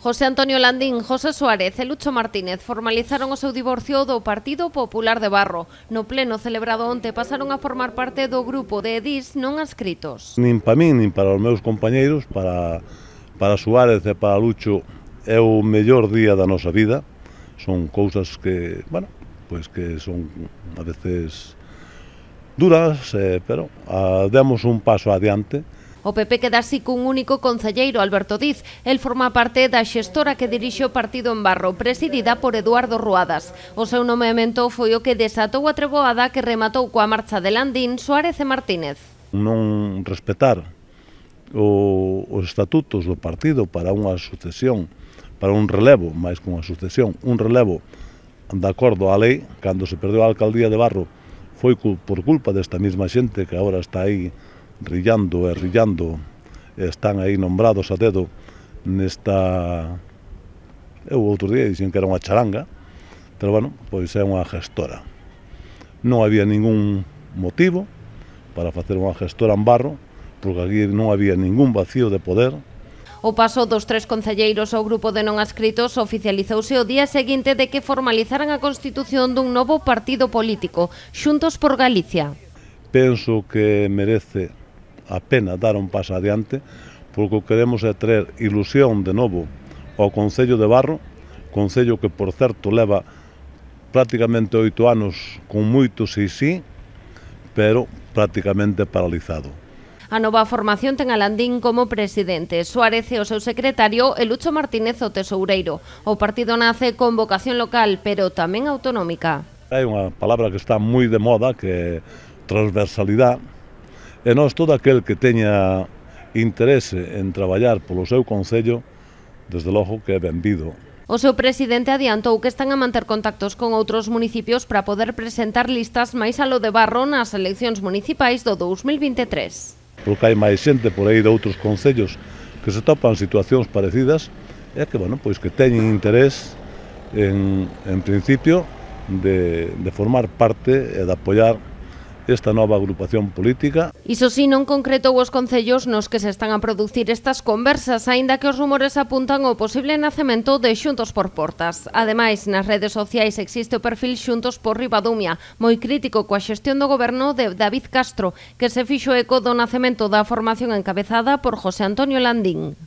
José Antonio Landín, José Suárez e Lucho Martínez formalizaron o seu divorcio do Partido Popular de Barro. No pleno celebrado onte pasaron a formar parte do grupo de edís non adscritos. Nin para min, nin para os meus compañeiros, para Suárez e para Lucho, é o mellor día da nosa vida. Son cousas que, bueno, pois que son a veces duras, pero demos un paso adiante. O PP queda así cun único concelleiro, Alberto Diz. El forma parte da xestora que dirixe o partido en Barro, presidida por Eduardo Ruadas. O seu nomeamento foi o que desatou a treboada que rematou coa marcha de Landín, Suárez e Martínez. Non respetar os estatutos do partido para unha sucesión, para un relevo, máis que unha sucesión, un relevo de acordo á lei, cando se perdeu a alcaldía de Barro, foi por culpa desta mesma xente que agora está aí rillando, están aí nombrados a dedo nesta... Eu outro día dixen que era unha charanga, pero bueno, pois é unha gestora. Non había ningún motivo para facer unha gestora en Barro, porque aquí non había ningún vacío de poder. O paso dos 3 concelleiros ao grupo de non adscritos oficializouse o día seguinte de que formalizaran a constitución dun novo partido político, Xuntos por Galicia. Penso que merece a pena dar un paso adiante, porque o que queremos é traer ilusión de novo ao Concello de Barro, concello que, por certo, leva prácticamente 8 anos con moito sí, pero prácticamente paralizado. A nova formación ten a Landín como presidente, Suárez e o seu secretario e Lucho Martínez o tesoureiro. O partido nace con vocación local, pero tamén autonómica. Hai unha palabra que está moi de moda, que é transversalidade, e nós, todo aquel que teña interese en traballar polo seu concello, desde logo que é benvido. O seu presidente adiantou que están a manter contactos con outros municipios para poder presentar listas máis alo de Barro nas eleccións municipais do 2023. Porque hai máis xente por aí de outros concellos que se topan situacións parecidas e que, bueno, pois que teñen interés en principio de formar parte e de apoiar esta nova agrupación política. Iso si, non concretou os concellos nos que se están a producir estas conversas, aínda que os rumores apuntan ao posible nacemento de Xuntos por Portas. Ademais, nas redes sociais existe o perfil Xuntos por Ribadumia, moi crítico coa xestión do goberno de David Castro, que se fixo eco do nacemento da formación encabezada por José Antonio Landín.